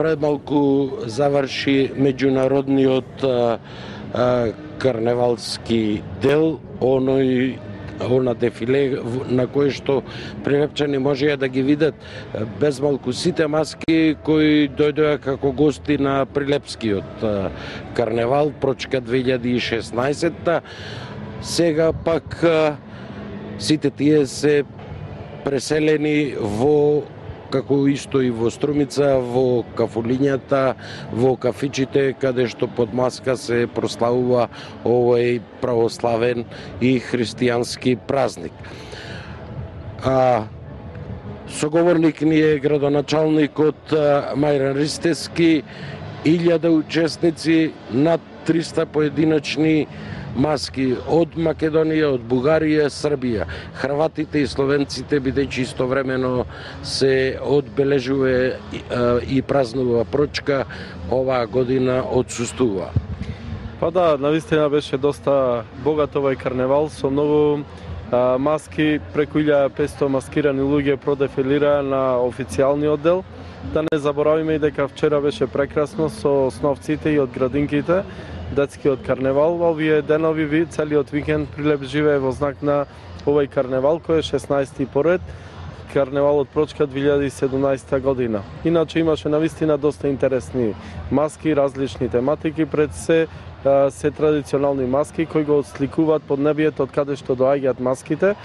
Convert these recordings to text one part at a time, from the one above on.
премалку заврши меѓународниот карневалски дел, она дефиле на кое што прилепчани можеа да ги видат безмалку сите маски кои дојдоа како гости на Прилепскиот карневал Прочка 2016. Сега пак сите тие се преселени во, како исто и во Струмица, во кафулињата, во кафичите, каде што под маска се прославува овој православен и христијански празник. Соговорник ни е градоначалникот Мајран Ристевски, 1000 учесници, над 300 поединачни маски од Македонија, од Бугарија, Србија, хрватите и словенците, бидејќи истовремено се одбележува и празнува Прочка, оваа година отсуствува. Па да, навистина беше доста богат овој карневал со многу маски, преку 1500 маскирани луѓе продефилираа на официјалниот дел. Да не заборавиме и дека вчера беше прекрасно со сновците и од градинките, детскиот карневал. Овие денови, целиот викенд Прилеп живее во знак на овој карневал, кој е 16-ти поред, карневалот Прочка 2017 година. Иначе имаше навистина доста интересни маски, различни тематики, пред се традиционални маски кои го отсликуваат поднебието од каде што доаѓаат маските.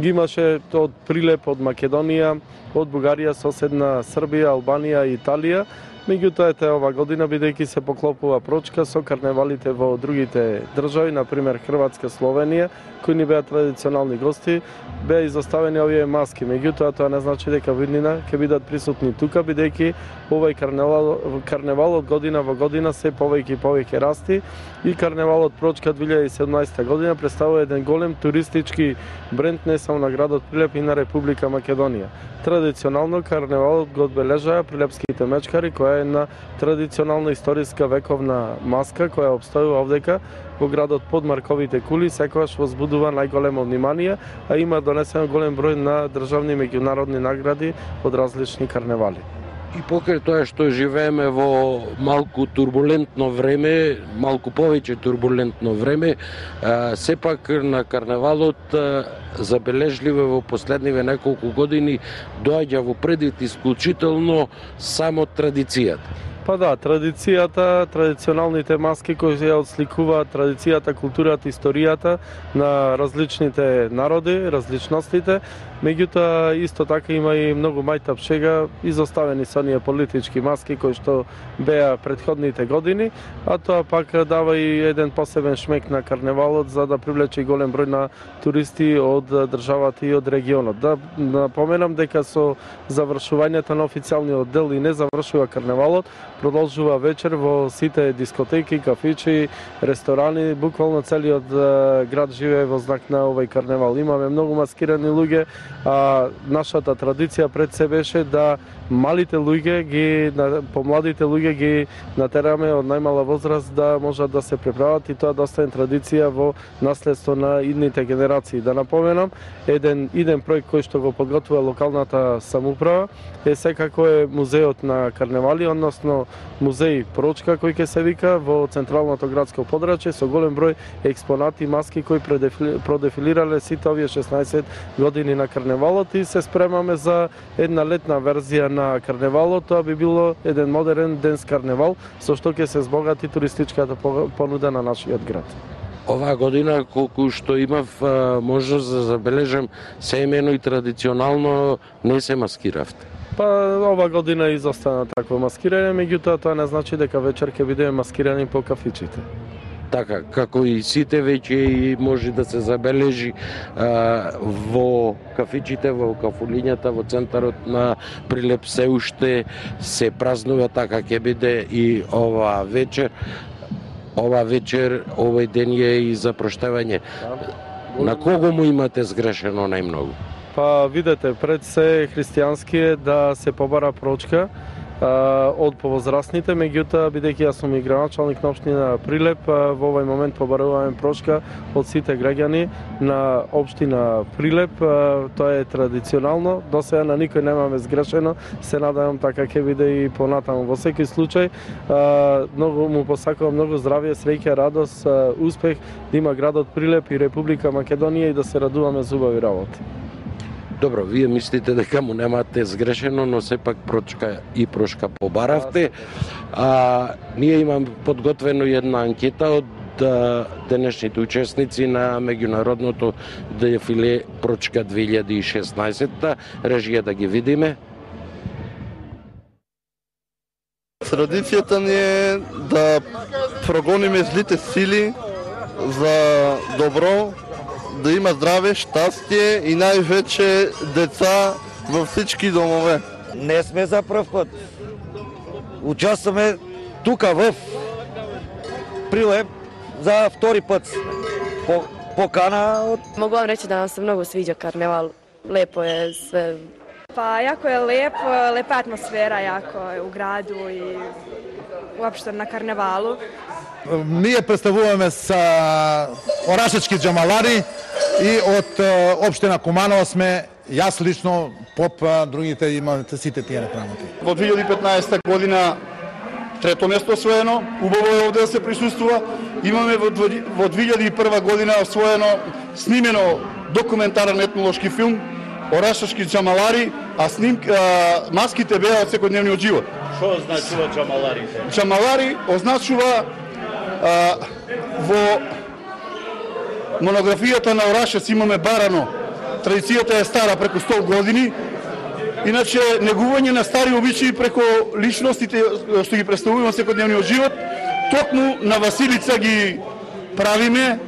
Ги имаше од Прилеп, од Македонија, од Бугарија, соседна Србија, Албанија и Италија. Меѓутоа, ова година, бидејќи се поклопува Прочка со карневалите во другите држави, например Хрватска, Словенија, кои ни беа традиционални гости, беа изоставени овие маски. Меѓутоа, тоа не значи дека виднина ќе бидат присутни тука, бидејќи овој карневал од година во година се повеќе и повеќе расти и карневалот Прочка 2017 година представува еден голем туристички бренд не само на градот Прилеп и на Република Македонија. Традиционално карневалот го одбележаа прилепските мечкари, која е една традиционална историска вековна маска која обстојува овдека во градот под Марковите кули, секогаш возбудува најголемо внимание, а има донесен голем број на државни и меѓународни награди од различни карневали. И покрај тоа што живееме во малку турбулентно време, малку повеќе турбулентно време, сепак на карневалот забележливо во последниве неколку години доаѓа во предвид исклучително само традицијата. Па да, традицијата, традиционалните маски кои ја отсликуваат традицијата, културата, историјата на различните народи, различностите. Меѓутоа, исто така има и многу мајтап шега, изоставени со оние политички маски кои што беа предходните години, а тоа пак дава и еден посебен шмек на карневалот за да привлече голем број на туристи од државата и од регионот. Да напоменам дека со завршувањето на официјалниот дел и не завршува карневалот, продолжува вечер во сите дискотеки, кафичи, ресторани, буквално целиот град живее во знак на овој карневал. Имаме многу маскирани луѓе, а нашата традиција пред се беше да малите луѓе, помладите луѓе ги натераме од најмала возраст да можат да се преправат и тоа да остане традиција во наследство на идните генерации. Да напоменам, еден проект кој што го подготвува локалната самоуправа е секако е музеот на карневали, односно музеј Прочка кој ќе се вика во централното градско подрачје со голем број експонати, маски кои продефилирале сите овие 16 години на карневалот и се спремаме за една летна верзија на карневалот. Тоа би било еден модерен денс карневал со што ќе се збогати туристичката понуда на нашиот град. Оваа година, колку што имав можност да забележам, семејно и традиционално не се маскиравте. Па ова година изостана такво маскирање, меѓутоа тоа не значи дека вечер ќе бидеме маскирани по кафичите. Така, како и сите веќе и може да се забележи во кафичите, во кафулињата, во центарот на Прилеп се уште се празнува, така ќе биде и ова вечер. Ова вечер, овој ден е и за проштевање. На кого му имате сгрешено најмногу? Па видете, пред се христијански е да се побара Прочка од повозрастните, меѓутоа бидејќи јас сум и градоначалник на општина Прилеп, во овој момент побаруваме прошка од сите граѓани на општина Прилеп. Тоа е традиционално, до сега на никој немаме сгрешено, се надевам така ќе биде и понатаму. Во секој случај, многу му посакувам многу здравје, среќа, радост, успех да има градот Прилеп и Република Македонија и да се радуваме за убави работи. Добро, вие мислите дека му немате сгрешено, но сепак прошка побаравте. Ние имам подготвено една анкета од денешните учесници на меѓународното дефиле Прочка 2016. Режија да ги видиме. Традицијата ни е да прогониме злите сили за добро, да има здраве, штастие и највече деца во всички домове. Не сме за прв пат. Участваме тука в Прилеп за втори пат. Покана од... Могу вам речи да нам се многу свиѓа карневал. Лепо е све. Pa jako je lepa atmosfera jako u gradu i uopšte na karnevalu. Ние представуваме са орашечки џамалари и од општина Куманово сме, јас лично, поп, другите имате сите тие работи. Во 2015 година трето место освоено, убаво е овде да се присуствува. Имаме во 2001 година освоено снимено документарен етнолошки филм Орашечки џамалари, а маските беа од секојдневниот живот. Што означува џамаларите? Џамалари означува во монографијата на Орашец имаме барано. Традицијата е стара преку 100 години. Иначе негување на стари обичаи преку личностите што ги представуваме во секојдневниот живот, токму на Василица ги правиме.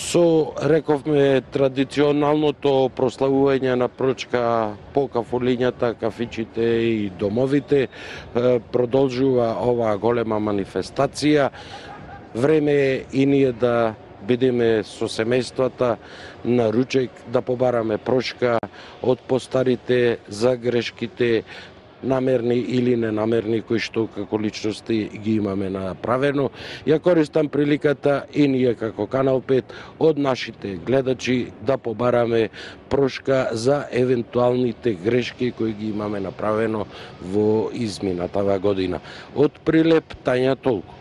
Со, рековме, традиционалното прославување на Прочка по кафулињата, кафичите и домовите, продолжува оваа голема манифестација. Време е и ние да бидеме со семејствата на ручек, да побараме прошка од постарите за грешките, намерни или ненамерни, кои што како личности ги имаме направено. Ја користам приликата и ние како Канал 5 од нашите гледачи да побараме прошка за евентуалните грешки кои ги имаме направено во изминатава година. Од Прилеп, Тања, толку.